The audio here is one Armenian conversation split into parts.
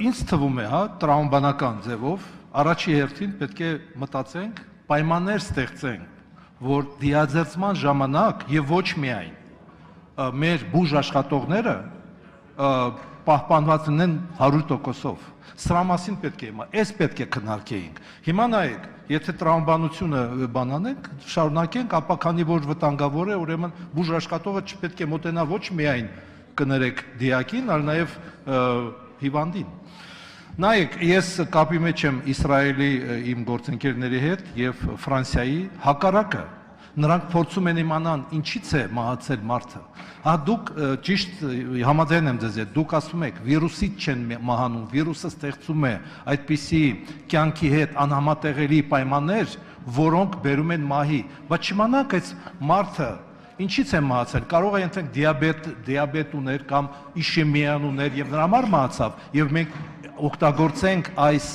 ինձ թվում է, հա, տրամաբանական ձևով առաջի հերթին պետք է մտածենք, պայմաններ ստեղծենք, որ դիազերծման ժամանակ եւ ոչ միայն մեր բուժ աշխատողները պահպանված լինեն 100%-ով։ Սրա մասին պետք է այս պետք է քննարկեինք։ Հիմա նայեք, եթե տրամաբանությունը բանանենք, շարունակենք, ապա քանի որ վտանգավոր է, ուրեմն բուժ աշխատողը չպետք է մոտենա ոչ միայն կներեք դիակին, այլ նաև հիվանդին։ Նայեք, ես կապի մեջ եմ Իսրայելի իմ գործընկերների հետ եւ Ֆրանսիայի հակառակը։ Նրանք փորձում են իմանան ինչից է մահացել մարդը։ Հա դուք ճիշտ համաձայն եմ ձեզ հետ, դուք ասում եք վիրուսից չեն մահանում, վիրուսը ստեղծում է այդպիսի կյանքի հետ անհամատեղելի պայմաններ, որոնք բերում են մահի։ Բայց չիմանանք այս մարդը ինչից է մահացել, կարող է ենթենք դիաբետ ուներ կամ իշեմիան ուներ եւ նրա համար մահացավ եւ մենք օգտագործենք այս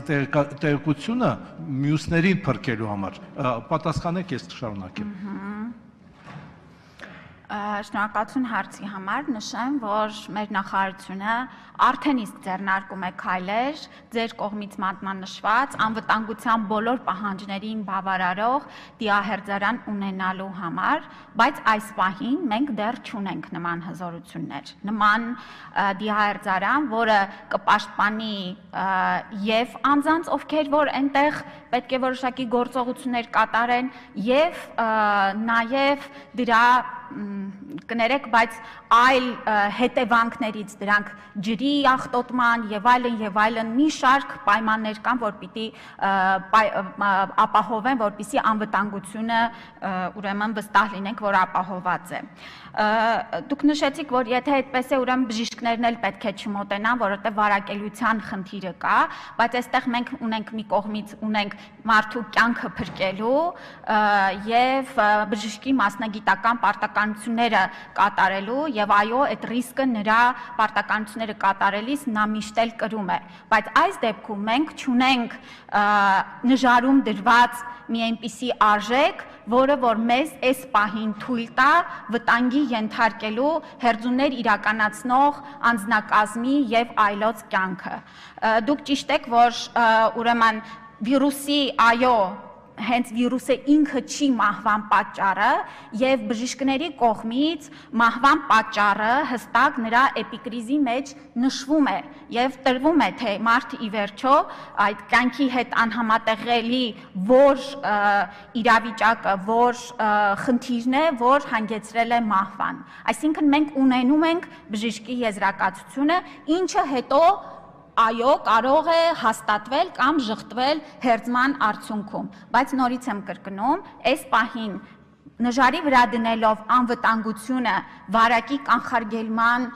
տեղեկությունը մյուսներին փրկելու համար։ Պատասխանեք, ես կշարունակեմ։ Շնորհակալություն հարցի համար, նշեմ, որ մեր նախարարությունը արդեն իսկ ձեռնարկում է քայլեր ձեր կողմից մատնանշված անվտանգության բոլոր պահանջներին բավարարող դիահերձարան ունենալու համար, բայց այս պահին մենք դեռ չունենք նման հզորություններ։ Նման դիահերձարան, որը կպաշտպանի եւ անձանց, ովքեր որ այնտեղ պետք է որոշակի գործողություններ կատարեն եւ նաեւ դրա կներեք, բայց այլ հետևանքներից դրանք ջրի աղտոտման եւ այլն մի շարք պայմաններ կան, որ պիտի ապահովեն, որպեսզի անվտանգությունը ուրեմն վստահ լինենք, որ ապահոված է։ Դուք նշեցիք, որ եթե այդպես է, ուրեմն բժիշկներն էլ պետք է չմոտենան, որովհետեւ վարակելիության խնդիրը կա, բայց այստեղ մենք ունենք մի կողմից ունենք մարդու կյանքը փրկելու եւ բժշկի մասնագիտական պարտականությունները կատարելու եւ այո, այդ ռիսկը նրա պարտականությունները կատարելիս նա միշտ էլ կրում է, բայց այս դեպքում մենք չունենք նժարում դրված մի այնպիսի արժեք, որը որ մեզ այս պահին թույլ տա վտանգի ենթարկելու հերձուններ իրականացնող անձնակազմի եւ այլոց կյանքը։ Դուք ճիշտ եք, որ ուրեմն վիրուսի, այո, հենց վիրուսը ինքը չի մահվան պատճառը եւ բժիշկների կողմից մահվան պատճառը հստակ նրա էպիկրիզի մեջ նշվում է եւ տրվում է, թե մարդը ի վերջո այդ կյանքի հետ անհամատեղելի որ իրավիճակը, որ խնդիրն է, որ հանգեցրել է մահվան։ Այսինքն մենք ունենում ենք բժշկի եզրակացությունը, ինչը հետո այո, կարող է հաստատվել կամ ժխտվել հերձման արդյունքում, բայց նորից եմ կրկնում, այս պահին նժարի վրա դնելով անվտանգությունը, վարակի կանխարգելման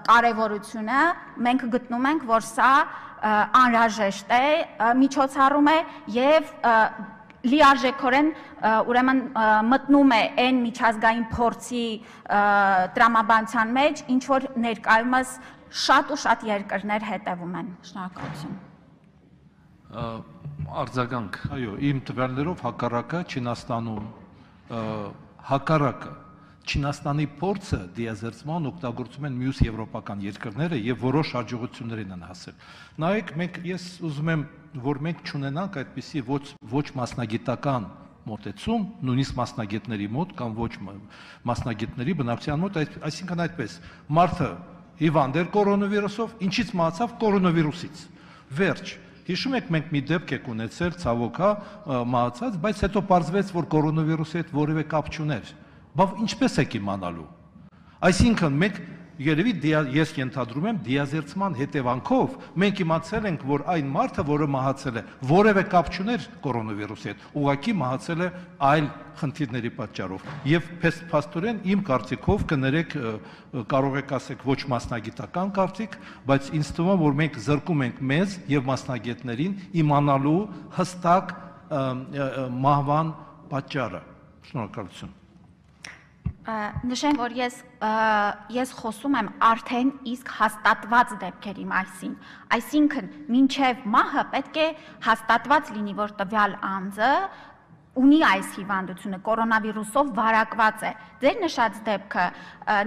կարևորությունը, մենք գտնում ենք, որ սա անհրաժեշտ է, միջոցառում է եւ լիարժեքորեն ուրեմն մտնում է այն միջազգային փորձի տրամաբանության մեջ, ինչ որ ներկայումս շատ ու շատ երկրներ հետևում են։ Շնորհակալություն։ Արձագանք, այո, իմ տվյալներով հակառակը Չինաստանում հակառակը Չինաստանի փորձը դիազերծման օգտագործում են մյուս եվրոպական երկրները եւ որոշ հաջողություններին են հասել։ Նայեք, ես ուզում եմ, որ մենք չունենանք այդպիսի ոչ մասնագիտական մոտեցում, նույնիսկ մասնագետների մոտ կամ ոչ մասնագետների բնակչության մոտ, այսինքն այդպես, մարդը հիվանդ էր կորոնավիրուսով, ինչից մահացավ կորոնավիրուսից։ Վերջ։ Հիշում եք, մենք մի դեպք եք ունեցել, ցավոք, մահացած, բայց հետո պարզվեց, որ կորոնավիրուսի հետ որևէ կապ չուներ։ Բայց ինչպես եք իմանալու։ Այսինքն մենք երևի ես ենթադրում եմ դիազերծման հետևանքով մենք իմացել ենք, որ այն մարդը, որը մահացել է, որևէ կապ չուներ կորոնավիրուսի հետ, ուղղակի մահացել է այլ խնդիրների պատճառով։ Եվ փաստորեն իմ կարծիքով կներեք, կարող եք ասեք ոչ մասնագիտական կարծիք, բայց ինձ թվում է, որ մենք զրկում ենք մեզ եւ մասնագետներին իմանալու հստակ մահվան պատճառը։ Շնորհակալություն։ Նշեմ, որ ես խոսում եմ արդեն իսկ հաստատված դեպքերի մասին, այսինքն մինչև մահը պետք է հաստատված լինի, որ տվյալ անձը ունի այս հիվանդությունը, կորոնավիրուսով վարակված է։ Ձեր նշած դեպքը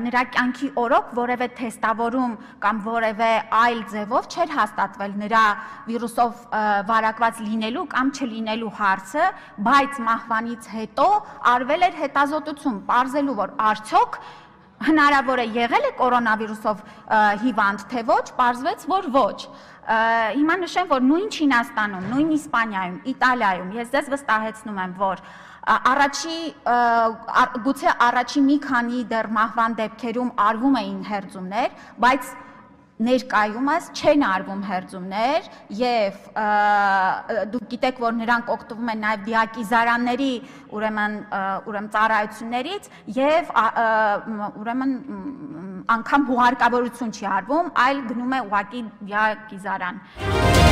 նրա կյանքի օրոք որևէ թեստավորում կամ որևէ այլ ձևով չէր հաստատվել նրա վիրուսով վարակված լինելու կամ չլինելու հարցը, բայց մահվանից հետո արվել էր հետազոտություն, պարզելու, որ արդյոք հնարավոր է եղել է կորոնավիրուսով հիվանդ, թե ոչ, պարզվեց, որ ոչ։ Հիմա նշեմ, որ նույն Չինաստանում, նույն Իսպանիայում, Իտալիայում ես ձեզ վստահեցնում եմ, որ գուցե առաջի մի քանի դեռ մահվան դեպքերում արվում էին հերձումներ, բայց ներկայումս չեն արվում հերձումներ եւ դուք գիտեք, որ նրանք օգտվում են նաեւ դիակիզարանների ուրեմն ծառայություններից եւ ուրեմն անգամ հուղարկավորություն չի արվում, այլ գնում է ուղղակի դիակիզարան։